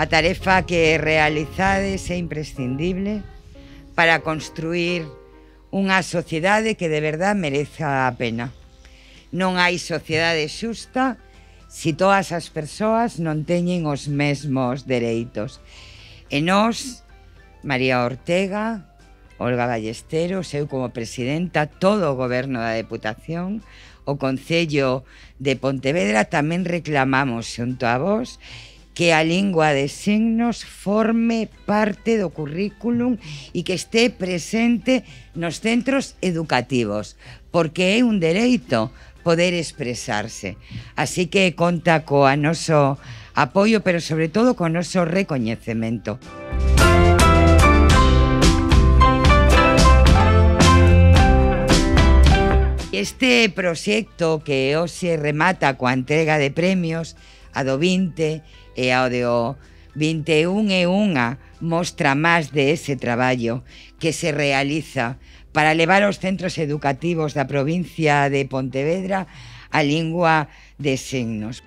A tarefa que realizades é imprescindible para construir unha sociedade que de verdade mereza a pena. Non hai sociedade xusta se todas as persoas non teñen os mesmos dereitos. E nós, María Ortega, Olga Ballesteros, eu como presidenta, todo o goberno da Deputación, o Concello de Pontevedra, tamén reclamamos xunto a vos que a lingua de signos forme parte do currículum e que este presente nos centros educativos, porque é un dereito poder expresarse. Así que conta coa noso apoio, pero sobre todo co noso recoñecemento. Este proxecto que hoxe remata coa entrega de premios, a do 20 e ao do 21 é unha mostra máis de ese traballo que se realiza para levar aos centros educativos da provincia de Pontevedra a lingua de signos.